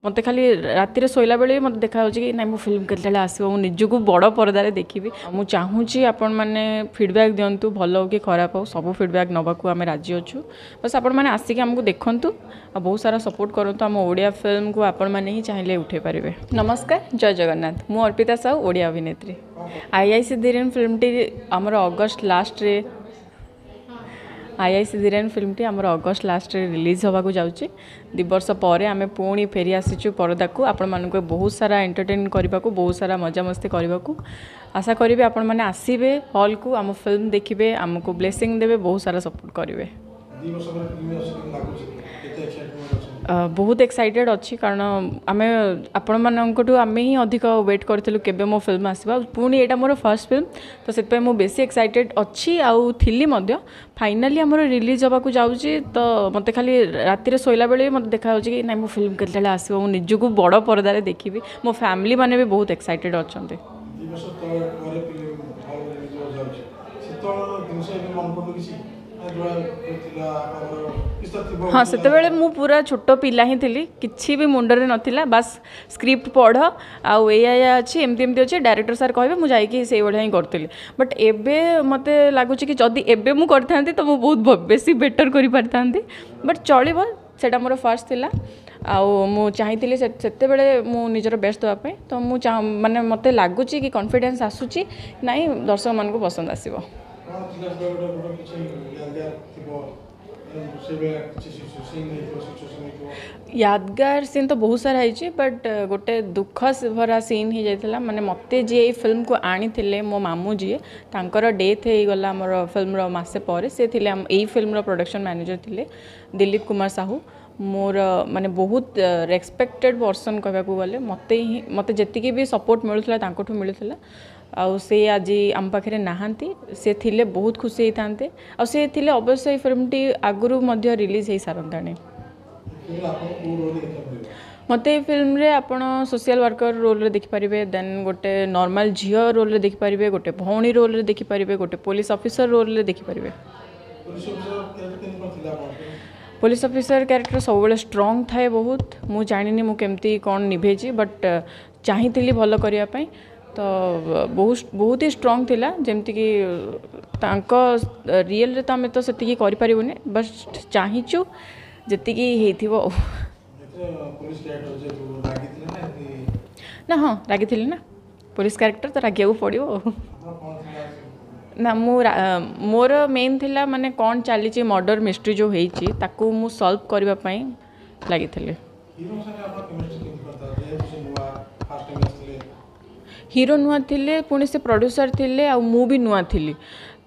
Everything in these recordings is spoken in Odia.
ମୋତେ ଖାଲି ରାତିରେ ଶୋଇଲା ବେଳେ ବି ମୋତେ ଦେଖାଯାଉଛି କି ନାଇଁ, ମୋ ଫିଲ୍ମ କେତେବେଳେ ଆସିବ, ମୁଁ ନିଜକୁ ବଡ଼ ପରଦାରେ ଦେଖିବି। ମୁଁ ଚାହୁଁଛି ଆପଣମାନେ ଫିଡ଼ବ୍ୟାକ୍ ଦିଅନ୍ତୁ, ଭଲ ହଉ କି ଖରାପ ହଉ, ସବୁ ଫିଡ଼ବ୍ୟାକ୍ ନେବାକୁ ଆମେ ରାଜି ଅଛୁ। ବାସ୍ ଆପଣମାନେ ଆସିକି ଆମକୁ ଦେଖନ୍ତୁ ଆଉ ବହୁତ ସାରା ସପୋର୍ଟ କରନ୍ତୁ। ଆମ ଓଡ଼ିଆ ଫିଲ୍ମକୁ ଆପଣମାନେ ହିଁ ଚାହିଁଲେ ଉଠାଇ ପାରିବେ। ନମସ୍କାର, ଜୟ ଜଗନ୍ନାଥ। ମୁଁ ଅର୍ପିତା ସାହୁ, ଓଡ଼ିଆ ଅଭିନେତ୍ରୀ। I I C Dhiren ଫିଲ୍ମଟି ଆମର ଅଗଷ୍ଟ ଲାଷ୍ଟରେ, I I C Dhiren ଫିଲ୍ମଟି ଆମର ଅଗଷ୍ଟ ଲାଷ୍ଟରେ ରିଲିଜ୍ ହେବାକୁ ଯାଉଛି। 2 ବର୍ଷ ପରେ ଆମେ ପୁଣି ଫେରି ଆସିଛୁ ପରଦାକୁ, ଆପଣମାନଙ୍କୁ ବହୁତ ସାରା ଏଣ୍ଟରଟେନ୍ କରିବାକୁ, ବହୁତ ସାରା ମଜାମସ୍ତି କରିବାକୁ। ଆଶା କରିବି ଆପଣମାନେ ଆସିବେ ହଲ୍କୁ, ଆମ ଫିଲ୍ମ ଦେଖିବେ, ଆମକୁ ବ୍ଲେସିଂ ଦେବେ, ବହୁତ ସାରା ସପୋର୍ଟ କରିବେ। 2 ବର୍ଷ ପରେ ଫିଲ୍ମ ଆସୁଛି, କେମିତି ଲାଗୁଛି? କେତେ ଏକ୍ସାଇଟମେଣ୍ଟ ଅଛନ୍ତି? ବହୁତ ଏକ୍ସାଇଟେଡ଼ ଅଛି, କାରଣ ଆମେ ଆପଣମାନଙ୍କଠୁ ଆମେ ହିଁ ଅଧିକ ୱେଟ୍ କରିଥିଲୁ କେବେ ମୋ ଫିଲ୍ମ ଆସିବ। ଆଉ ପୁଣି ଏଇଟା ମୋର ଫାର୍ଷ୍ଟ ଫିଲ୍ମ, ତ ସେଥିପାଇଁ ମୁଁ ବେଶୀ ଏକ୍ସାଇଟେଡ଼ ଅଛି ଆଉ ଥିଲି ମଧ୍ୟ। ଫାଇନାଲି ଆମର ରିଲିଜ୍ ହେବାକୁ ଯାଉଛି, ତ ମୋତେ ଖାଲି ରାତିରେ ଶୋଇଲା ବେଳେ ବି ମୋତେ ଦେଖାଯାଉଛି କି ନାଇଁ, ମୋ ଫିଲ୍ମ କେତେବେଳେ ଆସିବ, ମୁଁ ନିଜକୁ ବଡ଼ ପରଦାରେ ଦେଖିବି। ମୋ ଫ୍ୟାମିଲି ମାନେ ବି ବହୁତ ଏକ୍ସାଇଟେଡ଼ ଅଛନ୍ତି। 2 ବର୍ଷ ତଳେ ପରେ ଫିଲ୍ମ ହଲ୍ ରିଲିଜ୍ ହେବାକୁ ଯାଉଛି, ସେତେବେଳର ଜିନିଷ ଏବେ ମନେ ପଡ଼ୁନି କିଛି ନା, ଯୋଉଟା ଥିଲା ଆପଣଙ୍କର କିଛି ତ ଥିବ? ହଁ, ସେତେବେଳେ ମୁଁ ପୁରା ଛୋଟ ପିଲା ହିଁ ଥିଲି, କିଛି ବି ମୁଣ୍ଡରେ ନଥିଲା। ବାସ୍ ସ୍କ୍ରିପ୍ଟ ପଢ଼ ଆଉ ଏଇଆ ଏଇଆ ଅଛି, ଏମିତି ଏମିତି ଅଛି, ଡାଇରେକ୍ଟର ସାର୍ କହିବେ, ମୁଁ ଯାଇକି ସେଇଭଳିଆ ହିଁ କରୁଥିଲି। ବଟ୍ ଏବେ ମୋତେ ଲାଗୁଛି କି ଯଦି ଏବେ ମୁଁ କରିଥାନ୍ତି ତ ମୁଁ ବହୁତ ବେଶୀ ବେଟର୍ କରିପାରିଥାନ୍ତି। ବଟ୍ ଚଳିବ, ସେଇଟା ମୋର ଫାର୍ଷ୍ଟ ଥିଲା ଆଉ ମୁଁ ଚାହିଁଥିଲି ସେତେବେଳେ ମୁଁ ନିଜର ବେଷ୍ଟ ଦେବା ପାଇଁ। ତ ମୁଁ ମାନେ ମୋତେ ଲାଗୁଛି କି କନଫିଡେନ୍ସ ଆସୁଛି, ନାଇଁ, ଦର୍ଶକମାନଙ୍କୁ ପସନ୍ଦ ଆସିବ। କ'ଣ ଥିଲା ସେତେବେଳେ ଗୋଟେ କିଛି ୟାଦଗାର ଥିବ, ସେଇଭଳିଆ କିଛି ସିନ୍ ହେଇଥିବ, ସିଚୁଏସନ୍ ହେଇଥିବ? ୟାଦଗାର ସିନ୍ ତ ବହୁତ ସାରା ହେଇଛି, ବଟ୍ ଗୋଟେ ଦୁଃଖ ଭରା ସିନ୍ ହେଇଯାଇଥିଲା। ମାନେ ମୋତେ ଯିଏ ଏଇ ଫିଲ୍ମକୁ ଆଣିଥିଲେ, ମୋ ମାମୁଁ ଯିଏ, ତାଙ୍କର ଡେଥ୍ ହେଇଗଲା ଆମର ଫିଲ୍ମର ମାସେ ପରେ। ସେ ଥିଲେ ଆମ ଏଇ ଫିଲ୍ମର ପ୍ରଡକ୍ସନ୍ ମ୍ୟାନେଜର ଥିଲେ, ଦିଲ୍ଲୀପ କୁମାର ସାହୁ। ମୋର ମାନେ ବହୁତ ରେସ୍ପେକ୍ଟେଡ଼ ପର୍ସନ୍ କହିବାକୁ ଗଲେ। ମୋତେ ହିଁ ମୋତେ ଯେତିକି ବି ସପୋର୍ଟ ମିଳୁଥିଲା ତାଙ୍କଠୁ ମିଳୁଥିଲା, ଆଉ ସେ ଆଜି ଆମ ପାଖରେ ନାହାନ୍ତି। ସେ ଥିଲେ ବହୁତ ଖୁସି ହେଇଥାନ୍ତେ, ଆଉ ସେ ଥିଲେ ଅବଶ୍ୟ ଏଇ ଫିଲ୍ମଟି ଆଗରୁ ମଧ୍ୟ ରିଲିଜ୍ ହେଇସାରନ୍ତାଣି। ଫିଲ୍ମରେ ଆପଣଙ୍କୁ କେଉଁ ରୋଲ୍ ଦେଖିବାକୁ ମିଳିବ? ମୋତେ ଏଇ ଫିଲ୍ମରେ ଆପଣ ସୋସିଆଲ ୱାର୍କର ରୋଲ୍ରେ ଦେଖିପାରିବେ, ଦେନ୍ ଗୋଟେ ନର୍ମାଲ ଝିଅ ରୋଲ୍ରେ ଦେଖିପାରିବେ, ଗୋଟେ ଭଉଣୀ ରୋଲ୍ରେ ଦେଖିପାରିବେ, ଗୋଟେ ପୋଲିସ ଅଫିସର ରୋଲ୍ରେ ଦେଖିପାରିବେ। ପୋଲିସ ଅଫିସର କ୍ୟାରେକ୍ଟର କେମିତି କ'ଣ ଥିଲା ଆପଣଙ୍କର? ପୋଲିସ ଅଫିସର କ୍ୟାରେକ୍ଟର ସବୁବେଳେ ଷ୍ଟ୍ରଙ୍ଗ ଥାଏ ବହୁତ। ମୁଁ ଜାଣିନି ମୁଁ କେମିତି କ'ଣ ନିଭେଇଛି, ବଟ୍ ଚାହିଁଥିଲି ଭଲ କରିବା ପାଇଁ, ତ ବହୁତ ବହୁତ ହି ଷ୍ଟ୍ରଙ୍ଗ ଥିଲା। ଯେମିତିକି ତାଙ୍କ ରିଏଲରେ ତ ଆମେ ତ ସେତିକି କରିପାରିବୁନି, ବଟ୍ ଚାହିଁଛୁ ଯେତିକି ହେଇଥିବ ଆଉ। ଏଥିରେ ପୋଲିସ କ୍ୟାରେକ୍ଟର ଯେହେତୁ ରାଗିଥିଲେ ନା ଏମିତି? ନା, ହଁ, ରାଗିଥିଲି ନା, ପୋଲିସ କ୍ୟାରେକ୍ଟର ତ ରାଗିବାକୁ ପଡ଼ିବ ଆଉ। ଆପଣ କ'ଣ ଥିଲା? ନା, ମୁଁ ମୋର ମେନ୍ ଥିଲା ମାନେ କ'ଣ ଚାଲିଛି, ମର୍ଡ଼ର ମିଷ୍ଟ୍ରି ଯେଉଁ ହେଇଛି ତାକୁ ମୁଁ ସଲ୍ଭ କରିବା ପାଇଁ ଲାଗିଥିଲି। ହିରୋଙ୍କ ସାଙ୍ଗେ ଆପଣ କେମିଷ୍ଟ୍ରି କେମିତି କ'ଣ ଥିଲା, ଯେହେତୁ ସେ ନୂଆ ଫାର୍ଷ୍ଟ ଟାଇମ୍ ଆସିଥିଲେ? ହିରୋ ନୂଆ ଥିଲେ, ପୁଣି ସେ ପ୍ରଡ୍ୟୁସର ଥିଲେ, ଆଉ ମୁଁ ବି ନୂଆ ଥିଲି।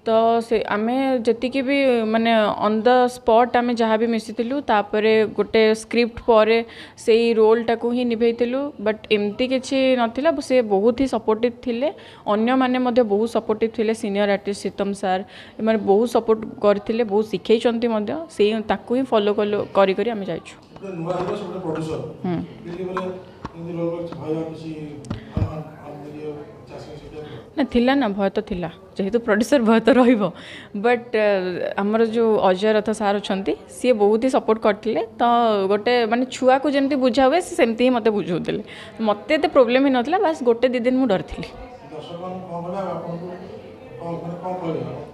ତ ସେ ଆମେ ଯେତିକି ବି ମାନେ ଅନ୍ the spot ଆମେ ଯାହା ବି ମିଶିଥିଲୁ, ତାପରେ ଗୋଟେ ସ୍କ୍ରିପ୍ଟ ପରେ ସେଇ ରୋଲ୍ଟାକୁ ହିଁ ନିଭେଇଥିଲୁ। ବଟ୍ ଏମିତି କିଛି ନଥିଲା, ସେ ବହୁତ ହି ସପୋର୍ଟିଭ୍ ଥିଲେ। ଅନ୍ୟମାନେ ମଧ୍ୟ ବହୁତ ସପୋର୍ଟିଭ୍ ଥିଲେ, ସିନିୟର ଆର୍ଟିଷ୍ଟ ସୀତମ ସାର୍, ଏମାନେ ବହୁତ ସପୋର୍ଟ କରିଥିଲେ, ବହୁତ ଶିଖେଇଛନ୍ତି ମଧ୍ୟ। ସେଇ ତାକୁ ହିଁ ଫଲୋ କଲୁ, କରି କରି ଆମେ ଯାଇଛୁ। ଗୋଟେ ନୂଆ ହିରୋ, ସେ ଗୋଟେ ପ୍ରଡ୍ୟୁସର, ଫିଲ୍ମରେ ଏମିତି ରୋଲ୍ କିଛି ଭୟ କିଛି ଇଏ ଚାଷୀ ସେଟା? ନା, ଥିଲା ନା, ଭୟ ତ ଥିଲା, ଯେହେତୁ ପ୍ରଡ୍ୟୁସର ଭୟ ତ ରହିବ। ବଟ୍ ଆମର ଯେଉଁ ଅଜୟ ରଥ ସାର୍ ଅଛନ୍ତି, ସିଏ ବହୁତ ହି ସପୋର୍ଟ କରିଥିଲେ। ତ ଗୋଟେ ମାନେ ଛୁଆକୁ ଯେମିତି ବୁଝା ହୁଏ, ସେ ସେମିତି ହିଁ ମୋତେ ବୁଝାଉଥିଲେ। ମୋତେ ଏତେ ପ୍ରୋବ୍ଲେମ୍ ହେଇନଥିଲା, ବାସ୍ ଗୋଟେ 2 ଦିନ ମୁଁ ଡରିଥିଲି। ଦର୍ଶକମାନଙ୍କୁ କ'ଣ କହିବେ ଆଉ ଆପଣଙ୍କୁ କ'ଣ ମାନେ କ'ଣ କହିବେ ଆପଣଙ୍କୁ?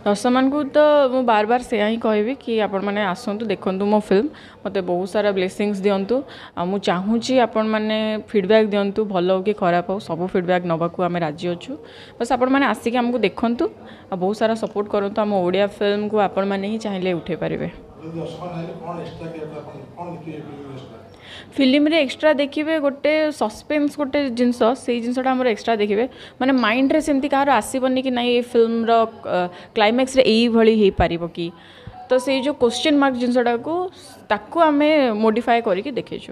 ଦର୍ଶକମାନଙ୍କୁ ତ ମୁଁ ବାର ବାର ସେୟା ହିଁ କହିବି କି ଆପଣମାନେ ଆସନ୍ତୁ, ଦେଖନ୍ତୁ ମୋ ଫିଲ୍ମ, ମୋତେ ବହୁତ ସାରା ବ୍ଲେସିଂସ୍ ଦିଅନ୍ତୁ। ଆଉ ମୁଁ ଚାହୁଁଛି ଆପଣମାନେ ଫିଡ଼ବ୍ୟାକ୍ ଦିଅନ୍ତୁ, ଭଲ ହଉ କି ଖରାପ ହଉ, ସବୁ ଫିଡ଼ବ୍ୟାକ୍ ନେବାକୁ ଆମେ ରାଜି ଅଛୁ। ବାସ୍ ଆପଣମାନେ ଆସିକି ଆମକୁ ଦେଖନ୍ତୁ ଆଉ ବହୁତ ସାରା ସପୋର୍ଟ କରନ୍ତୁ। ଆମ ଓଡ଼ିଆ ଫିଲ୍ମକୁ ଆପଣମାନେ ହିଁ ଚାହିଁଲେ ଉଠାଇ ପାରିବେ। ଯଦି ଦର୍ଶକମାନେ ଆଇଲେ କ'ଣ ଏକ୍ସଟ୍ରା କ୍ୟାରେକ୍ଟର ଆପଣ କ'ଣ ଦେଖିବେ ଫିଲ୍ମରେ ଏକ୍ସଟ୍ରା? ଫିଲ୍ମରେ ଏକ୍ସଟ୍ରା ଦେଖିବେ ଗୋଟେ ସସ୍ପେନ୍ସ, ଗୋଟେ ଜିନିଷ, ସେଇ ଜିନିଷଟା ଆମର ଏକ୍ସଟ୍ରା ଦେଖିବେ। ମାନେ ମାଇଣ୍ଡରେ ସେମିତି କାହାର ଆସିବନି କି ନାଇଁ, ଏ ଫିଲ୍ମର କ୍ଲାଇମ୍ୟାକ୍ସରେ ଏଇଭଳି ହେଇପାରିବ କି? ତ ସେଇ ଯେଉଁ କୋଶ୍ଚିନ୍ ମାର୍କ ଜିନିଷଟାକୁ, ତାକୁ ଆମେ ମୋଡ଼ିଫାଏ କରିକି ଦେଖେଇଛୁ।